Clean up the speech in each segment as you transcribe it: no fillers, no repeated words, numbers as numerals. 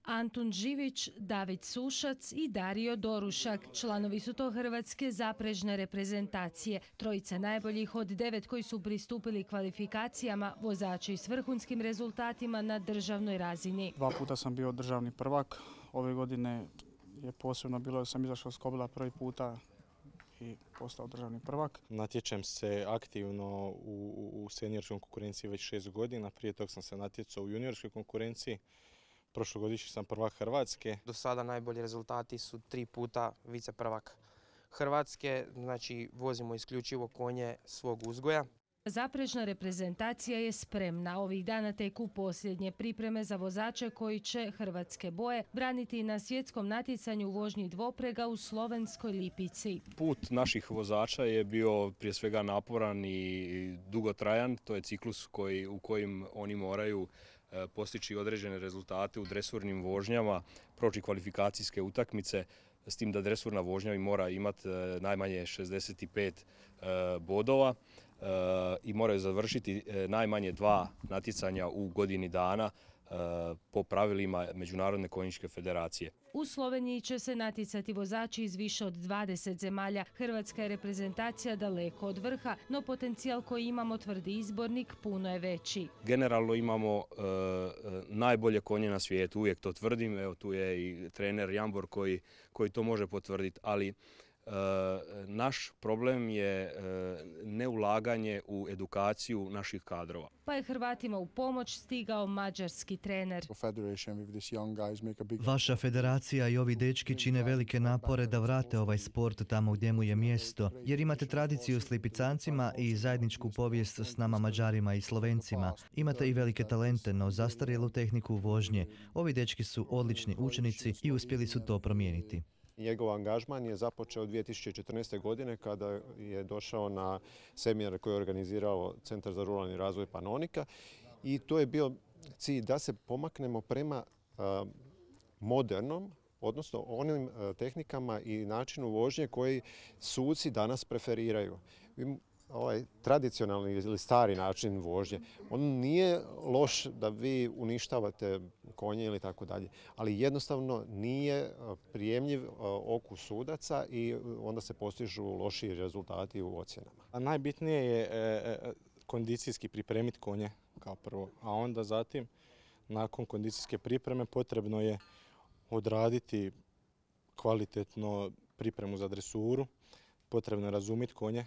Antun Živić, David Sušac i Dario Dorušak. Članovi su to hrvatske zaprežne reprezentacije. Trojica najboljih od 9 koji su pristupili kvalifikacijama, vozači s vrhunskim rezultatima na državnoj razini. 2 puta sam bio državni prvak. Ove godine je posebno bilo da sam izašao s Kobila prvi puta i postao državni prvak. Natječem se aktivno u seniorskoj konkurenciji već 6 godina. Prije tog sam se natjecao u juniorskoj konkurenciji. Prošlogodišnji sam prvak Hrvatske. Do sada najbolji rezultati su 3 puta vice prvak Hrvatske, znači vozimo isključivo konje svog uzgoja. Zaprežna reprezentacija je spremna. Ovih dana teku posljednje pripreme za vozače koji će hrvatske boje braniti na svjetskom natjecanju u vožnji dvoprega u slovenskoj Lipici. Put naših vozača je bio prije svega naporan i dugotrajan. To je ciklus u kojim oni moraju postići određene rezultate u dresurnim vožnjama, proći kvalifikacijske utakmice, s tim da dresurna vožnja mora imati najmanje 65 bodova i moraju završiti najmanje 2 natjecanja u godini dana po pravilima Međunarodne konjičke federacije. U Sloveniji će se natjecati vozači iz više od 20 zemalja. Hrvatska je reprezentacija daleko od vrha, no potencijal koji imamo, tvrdi izbornik, puno je veći. Generalno imamo najbolje konje na svijetu, uvijek to tvrdim. Evo, tu je i trener Jambor koji to može potvrditi, ali naš problem je neulaganje u edukaciju naših kadrova. Pa je Hrvatima u pomoć stigao mađarski trener. Vaša federacija i ovi dečki čine velike napore da vrate ovaj sport tamo gdje mu je mjesto, jer imate tradiciju s Lipicancima i zajedničku povijest s nama Mađarima i Slovencima. Imate i velike talente, no zastarjelu tehniku vožnje. Ovi dečki su odlični učenici i uspjeli su to promijeniti. Njegov angažman je započeo 2014. godine kada je došao na seminar koji je organizirao Centar za ruralni razvoj Panonika i to je bio cilj da se pomaknemo prema modernom, odnosno onim tehnikama i načinu vožnje koji suci danas preferiraju. Ovaj tradicionalni ili stari način vožnje, on nije loš da vi uništavate konje ili tako dalje, ali jednostavno nije prijemljiv oku sudaca i onda se postižu lošiji rezultati u ocjenama. A najbitnije je kondicijski pripremiti konje kao prvo, a onda zatim nakon kondicijske pripreme potrebno je odraditi kvalitetno pripremu za dresuru, potrebno je razumjeti konje,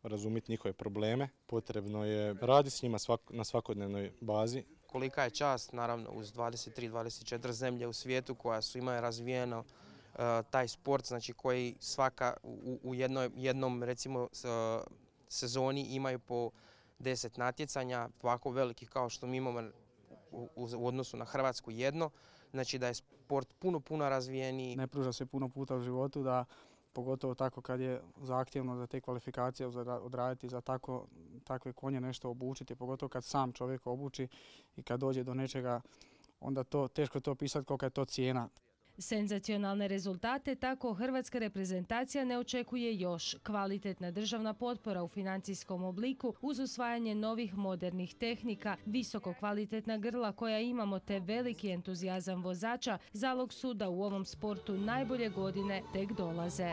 razumjeti njihove probleme, potrebno je raditi s njima na svakodnevnoj bazi. Kolika je čast, naravno, uz 23-24 zemlje u svijetu koja su imaju razvijeno taj sport, znači koji svaka u jednom recimo sezoni imaju po 10 natjecanja, ovako velikih kao što mi imamo u odnosu na Hrvatsku jedno, znači da je sport puno razvijeniji. Ne pruža se puno puta u životu da pogotovo tako kad je zahtjevno za te kvalifikacije odraditi za takve konje nešto obučiti, pogotovo kad sam čovjek obuči i kad dođe do nečega, onda teško je to opisati kolika je to cijena. Senzacionalne rezultate tako hrvatska reprezentacija ne očekuje još. Kvalitetna državna potpora u financijskom obliku uz usvajanje novih modernih tehnika, visoko kvalitetna grla koja imamo te veliki entuzijazam vozača zalog su da u ovom sportu najbolje godine tek dolaze.